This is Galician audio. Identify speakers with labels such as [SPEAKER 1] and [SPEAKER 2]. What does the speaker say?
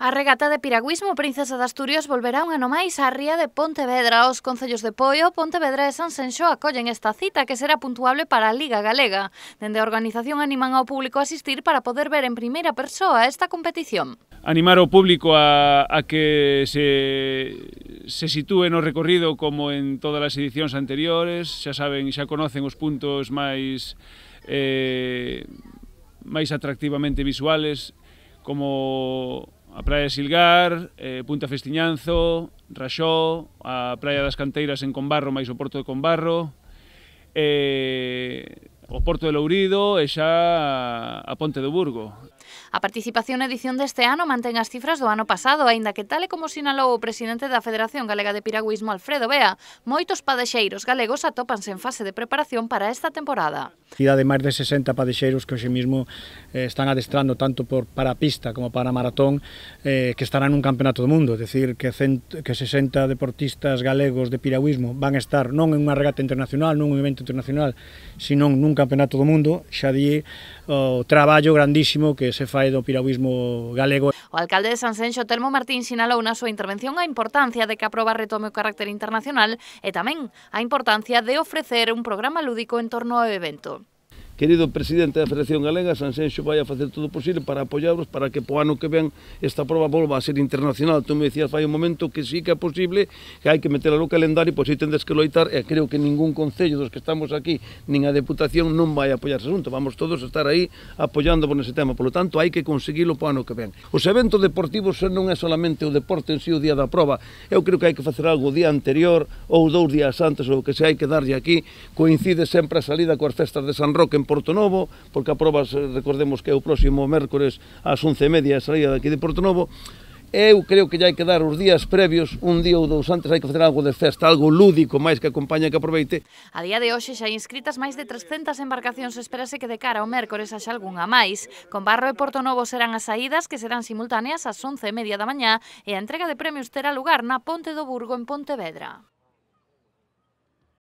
[SPEAKER 1] A regata de piragüismo Princesa de Asturias volverá un ano máis á ría de Pontevedra. Os concellos de Poio, Pontevedra e Sanxenxo acollen esta cita que será puntuable para a Liga Galega. Dende a organización animan ao público a asistir para poder ver en primeira persoa esta competición.
[SPEAKER 2] Animar ao público a que se sitúe no recorrido como en todas as edicións anteriores. Xa saben, xa conocen os puntos máis atractivamente visuales, como a Praia de Silgar, Punta Festiñanzo, Raxó, a Praia das Canteiras en Combarro máis o Porto de Combarro, o Porto de Lourido e xa a Ponte do Burgo.
[SPEAKER 1] A participación na edición deste ano mantén as cifras do ano pasado, aínda que tal e como sinalou o presidente da Federación Galega de Piragüismo, Alfredo Bea, moitos padexeiros galegos atópanse en fase de preparación para esta temporada.
[SPEAKER 3] De máis de 60 padexeiros que hoxe mismo están adestrando tanto para a pista como para a maratón, que estarán nun campeonato do mundo, é dicir, que 60 deportistas galegos de piragüismo van a estar non en unha regata internacional, non en un evento internacional, sino nun campeonato do mundo. Xa di o traballo grandísimo que se fai do piragüismo galego.
[SPEAKER 1] O alcalde de Sanxenxo, Telmo Martín, sinalou na súa intervención a importancia de que a proba retome o carácter internacional e tamén a importancia de ofrecer un programa lúdico en torno ao evento.
[SPEAKER 4] Querido presidente da Federación Galega, Sanxenxo vai a facer todo o posible para apoiarvos para que po ano que ven esta proba volva a ser internacional. Tú me decías fai un momento que sí que é posible, que hai que meterla no calendario, pois aí tendes que loitar, e creo que ningún concello dos que estamos aquí, nin a Deputación, non vai a apoiar ese asunto. Vamos todos a estar aí apoiándovos nese tema, polo tanto hai que conseguilo po ano que ven. Os eventos deportivos non é solamente o deporte en sí o día da proba, eu creo que hai que facer algo o día anterior ou 2 días antes, ou que se hai que darlle aquí. Coincide sempre a salida coas festas de San Roque en Porto Novo, porque a proba, recordemos que é o próximo mércores ás 11:30 a saída daqui de Porto Novo. Eu creo que hai que dar os días previos, un día ou 2 antes, hai que facer algo de festa, algo lúdico, máis que acompañe, que aproveite.
[SPEAKER 1] A día de hoxe xa hai inscritas máis de 300 embarcacións, espérase que de cara ao mércores haxa algunha máis. Combarro e Porto Novo serán as saídas, que serán simultáneas ás 11:30 da mañá, e a entrega de premios terá lugar na Ponte do Burgo en Pontevedra.